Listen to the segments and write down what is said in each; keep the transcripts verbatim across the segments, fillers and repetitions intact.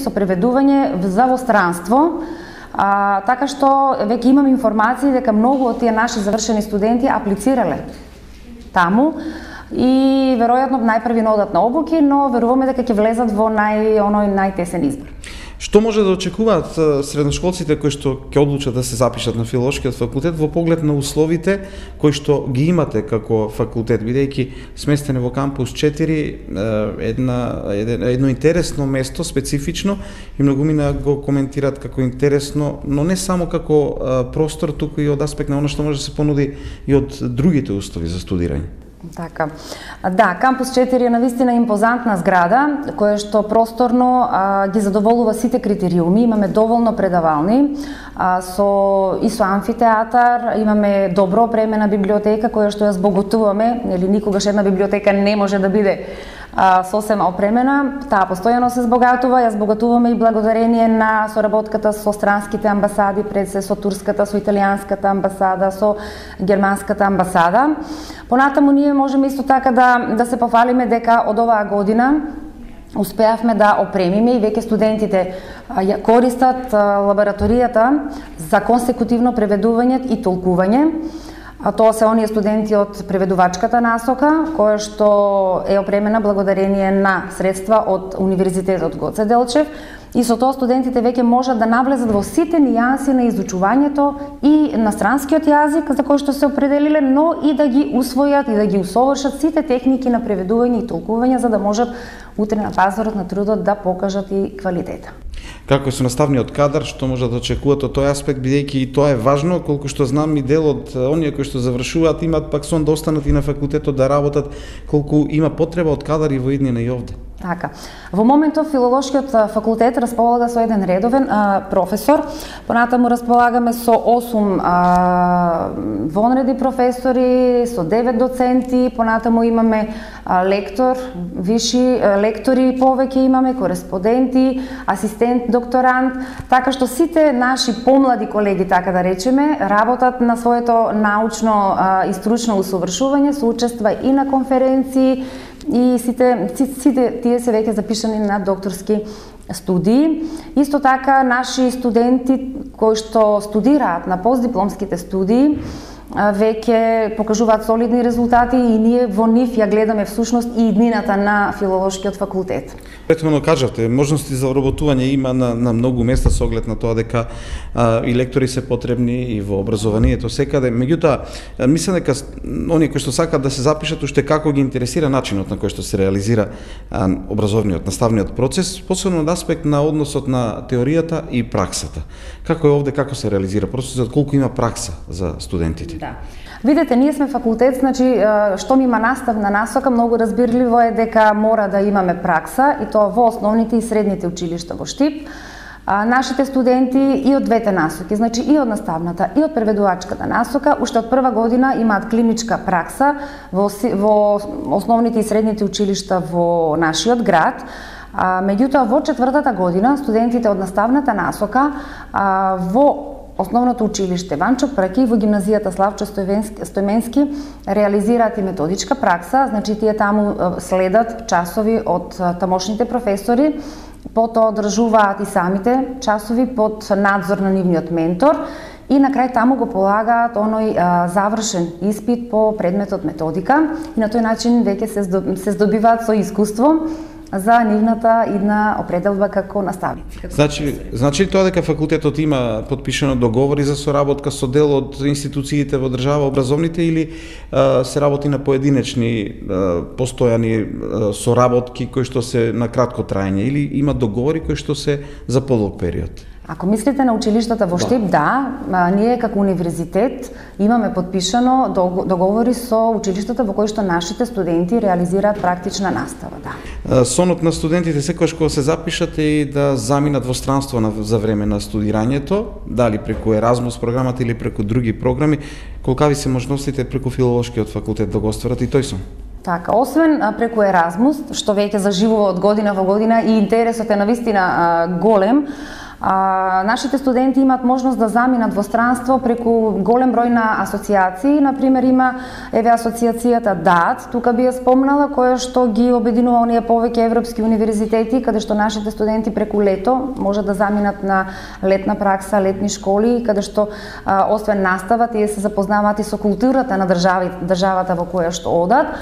со преведување за во странство, а, така што веќе имам информации дека многу од тие наши завршени студенти аплицирале таму и веројатно најпрви на одат на обуки, но веруваме дека ќе влезат во нај оној најтесен избор. Што може да очекуваат средношколците кои што ќе одлучат да се запишат на филолошкиот факултет во поглед на условите кои што ги имате како факултет, бидејќи сместени во кампус четири, една едно, едно интересно место, специфично, и многумина го коментираат како интересно, но не само како простор, туку и од аспект на оно што може да се понуди и од другите услови за студирање. Така. Да, кампус четири е навистина импозантна зграда, која што просторно а, ги задоволува сите критериуми. Имаме доволно предавални, а, со и со амфитеатар, имаме добро опремена библиотека која што ја збогатуваме, нели никогаш една библиотека не може да биде а, сосема опремена. Таа постојано се збогатува, ја збогатуваме и благодарение на соработката со странските амбасади, пред се со турската, со италијанската амбасада, со германската амбасада. Понатаму ние можеме исто така да да се пофалиме дека од оваа година успеавме да опремиме и веќе студентите ја користат лабораторијата за консекутивно преведување и толкување. А тоа се оние студенти од преведувачката насока, која што е опремена благодарение на средства од Универзитетот Гоце Делчев, и со тоа студентите веќе можат да навлезат во сите нијанси на изучувањето и на странскиот јазик за кој што се определиле, но и да ги усвојат и да ги усовршат сите техники на преведување и толкување за да можат утре на пазарот на трудот да покажат и квалитета. Како е со наставниот кадар, што може да очекуват од тој аспект, бидејќи и тоа е важно, колку што знам и дел од оние кои што завршуваат имаат пак сон да останат и на факултетот да работат, колку има потреба од кадари во иднина и овде. Така. Во моментов филолошкиот факултет располага со еден редовен а, професор, понатаму располагаме со осум а, вонреди професори, со девет доценти, понатаму имаме а, лектор, виши а, лектори повеќе имаме, кореспонденти, асистент, докторант, така што сите наши помлади колеги, така да речеме, работат на своето научно а, и стручно усовршување, се учества и на конференции, и сите, сите тие се веќе запишани на докторски студии. Исто така, наши студенти кои што студираат на постдипломските студии веќе покажуваат солидни резултати и ние во нив ја гледаме всушност и иднината на филолошкиот факултет. Претходно кажавте, можности за вработување има на, на многу места со оглед на тоа дека а, и лектори се потребни и во образованието секаде. Меѓутоа, мислам дека оние кои што сакаат да се запишат, уште како ги интересира начинот на кој што се реализира а, образовниот, наставниот процес, посебно од аспект на односот на теоријата и праксата. Како е овде, како се реализира процесот, колку има пракса за студентите? Да. Видете, ние сме факултет, значи, што ми има наставна насока, многу разбирливо е дека мора да имаме пракса, и тоа во основните и средните училишта во Штип. А, нашите студенти и од двете насоки, значи и од наставната и од преведувачката насока, уште од прва година имаат клиничка пракса во, во основните и средните училишта во нашиот град. А, меѓутоа, во четвртата година, студентите од наставната насока а, во Основното училиште Ванчо Прки и во гимназијата Славчо Стојменски реализираат и методичка пракса, значи тие таму следат часови од тамошните професори, потоа одржуваат и самите часови под надзор на нивниот ментор и на крај таму го полагаат оној а, завршен испит по предметот методика и на тој начин веќе се, се здобиваат со искуство за нивната идна определба како наставници. Како значи, значи тоа дека факултетот има подпишано договори за соработка со дел од институциите во држава образовните или а, се работи на поединечни а, постојани а, соработки кои што се на кратко траење или има договори кои што се за подолг период? Ако мислите на училиштата во Штип, да, да ние како универзитет имаме подпишано договори со училиштата во кои што нашите студенти реализираат практична настава, да. Сонот на студентите секогаш кога се запишат е да заминат во странство на, за време на студирањето, дали преку Еразмус програмата или преку други програми, колкави се можностите преку филолошкиот факултет да го остварат и тој сон? Така, освен преку Еразмус, што веќе заживува од година во година и интересот е навистина голем, А, нашите студенти имаат можност да заминат во странство преку голем број на асоциации. Например, има еве асоциацијата ДААТ, тука би ја спомнала, која што ги обединува оние повеќе европски универзитети, каде што нашите студенти преку лето може да заминат на летна пракса, летни школи, каде што а, освен настава, тие се запознаваат и со културата на држави, државата во која што одат,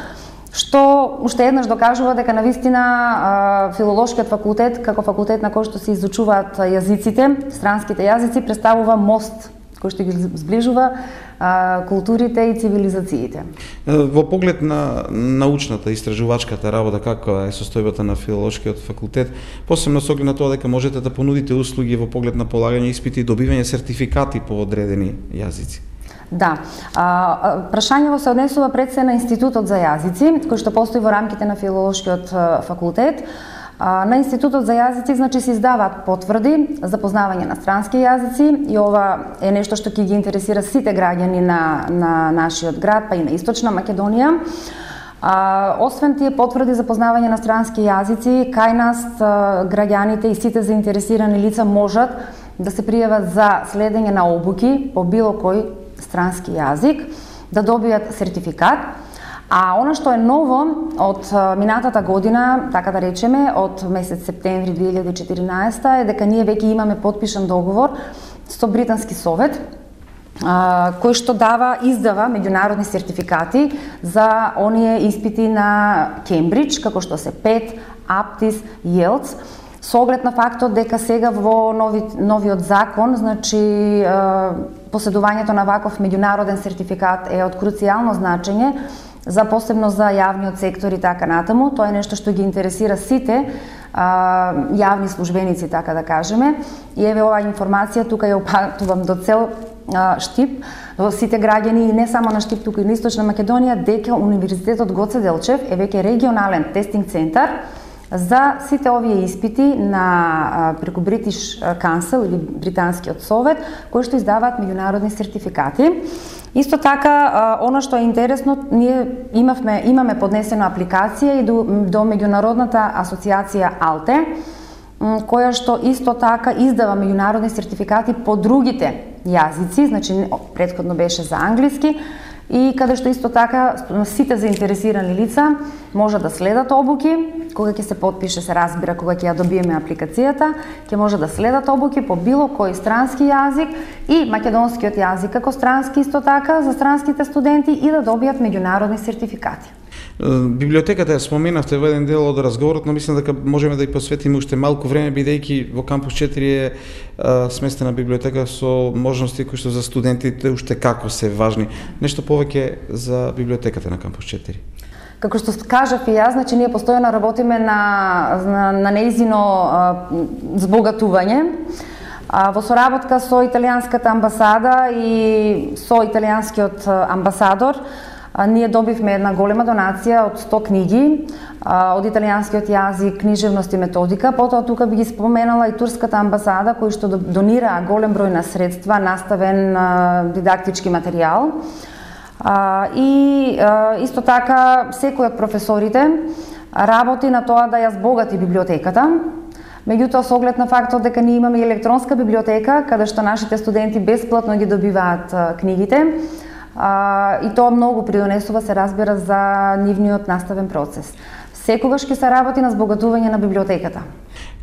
што уште еднаш докажува дека навистина филолошкиот факултет, како факултет на кој што се изучуваат јазиците, странските јазици, представува мост кој што ги зближува а, културите и цивилизациите. Во поглед на научната, истражувачката работа, каква е состојбата на филолошкиот факултет, посебно со оглед на тоа дека можете да понудите услуги во поглед на полагање испити и добивање сертификати по одредени јазици? Да. А, прашањево се однесува пред се на Институтот за јазици, кој што постои во рамките на филолошкиот факултет. А, на Институтот за јазици, значи, се издаваат потврди за познавање на странски јазици и ова е нешто што ќе ги интересира сите граѓани на, на нашиот град, па и на Источна Македонија. А, освен тие потврди за познавање на странски јазици, кај нас а, граѓаните и сите заинтересирани лица можат да се пријават за следење на обуки по било кој странски јазик, да добијат сертификат. А она што е ново од минатата година, така да речеме, од месец септември две илјади и четиринаесета е дека ние веќе имаме потпишан договор со Британски совет, кој што дава, издава меѓународни сертификати за оние испити на Кембридж, како што се пет, Аптис, Јелц, со оглед на фактот дека сега во нови, новиот закон, значи поседувањето на ваков меѓународен сертификат е од круцијално значење, за посебно за јавниот сектор и така натаму. Тоа е нешто што ги интересира сите а, јавни службеници, така да кажеме. И еве оваа информација тука ја упатувам до цел а, Штип, во сите граѓани и не само на Штип, тука и на Источна Македонија, дека Универзитетот Гоце Делчев е веќе регионален тестинг центар за сите овие испити на преку British Council или Британскиот совет, кои што издаваат меѓународни сертификати. Исто така, она што е интересно, ние имавме, имаме поднесена апликација и до, до меѓународната асоциација АЛТЕ, која што исто така издава меѓународни сертификати по другите јазици, значи претходно беше за англиски, и каде што исто така сите заинтересирани лица може да следат обуки, кога ќе се потпише, се разбира, кога ќе ја добиеме апликацијата, ќе може да следат обуки по било кој странски јазик и македонскиот јазик како странски исто така за странските студенти и да добијат меѓународни сертификати. Библиотеката ја споменавте во еден дел од разговорот, но мислам дека можеме да ја посветиме уште малку време, бидејќи во кампус четири е а, сместена библиотека со можности кои што за студентите уште како се важни. Нешто повеќе за библиотеката на кампус четири? Како што кажав и јас, значи ние постојано работиме на, на, на нејзино а, збогатување. А, во соработка со италијанската амбасада и со италијанскиот амбасадор, а, ние добивме една голема донација од сто книги а, од италијанскиот јазик, книжевност и методика. Потоа тука би ги споменала и турската амбасада, кои што донираа голем број на средства, наставен а, дидактички материјал. А, и а, исто така секој од професорите работи на тоа да ја збогати библиотеката. Меѓутоа, со оглед на фактот дека ние имаме електронска библиотека, каде што нашите студенти бесплатно ги добиваат а, книгите, а, и тоа многу придонесува, се разбира, за нивниот наставен процес. Секогаш ќе се работи на збогатување на библиотеката.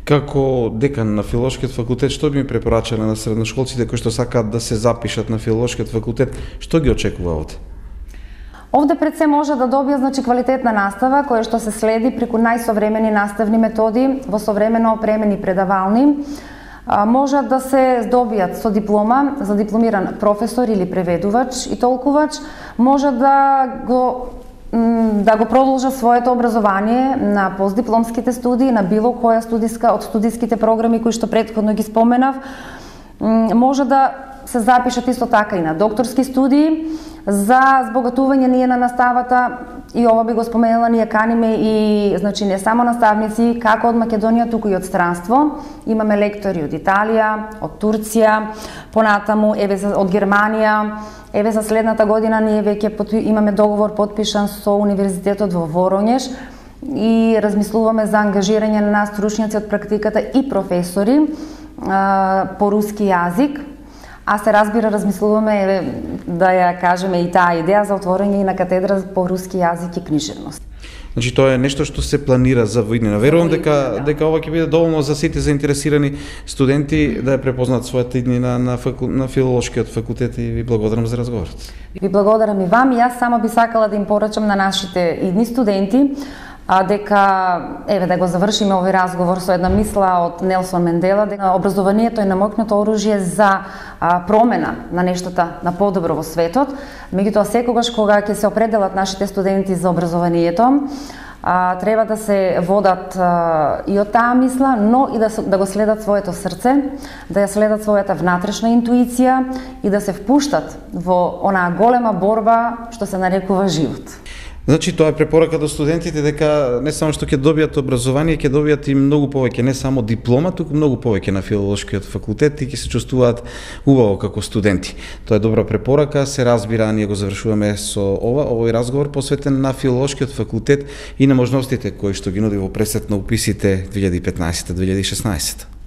Како декан на филолошкиот факултет, што би ми препорачале на средношколците кои што сакаат да се запишат на филолошкиот факултет, што ги очекува овде? Овде пред се може да добија, значи, квалитетна настава која што се следи преку најсовремени наставни методи во современо опремени предавални. А, можат да се здобијат со диплома за дипломиран професор или преведувач и толкувач, може да го да го продолжат своето образование на постдипломските студии, на било која студиска од студиските програми кои што претходно ги споменав. Може да се запишат исто така и на докторски студии. За збогатување ние на наставата, и ова би го споменала, ние каниме и, значи, не само наставници како од Македонија, туку и од странство. Имаме лектори од Италија, од Турција, понатаму еве од Германија. Еве за следната година ние веќе имаме договор потпишан со Универзитетот во Воронеж и размислуваме за ангажирање на нас стручњаци од практиката и професори по руски јазик, а се разбира, размислуваме да ја кажеме и таа идеја за отворање и на катедра по руски јазик и книжевност. Значи тоа е нешто што се планира за воиднина. Верувам дека да. дека ова ќе биде доволно за сите заинтересирани студенти да ја препознаат својата иднина на факу... на филолошкиот факултет и ви благодарам за разговорот. Ви благодарам и вам. Јас само би сакала да им порачам на нашите идни студенти а дека еве да го завршиме овој разговор со една мисла од Нелсон Мендела дека образованието е намокнато оружје за а, промена на нештата на подобро во светот. Меѓутоа секогаш кога ќе се определат нашите студенти за образованието, а, треба да се водат а, и од таа мисла, но и да, да го следат своето срце, да ја следат својата внатрешна интуиција и да се впуштат во онаа голема борба што се нарекува живот. Значи тоа е препорака до студентите дека не само што ќе добијат образование, ќе добијат и многу повеќе, не само диплома, туку многу повеќе на филолошкиот факултет и ќе се чувствуваат убаво како студенти. Тоа е добра препорака, се разбира, ние го завршуваме со ова, овој разговор посветен на филолошкиот факултет и на можностите кои што ги нуди во пресет на уписите две илјади и петнаесета - две илјади и шеснаесета.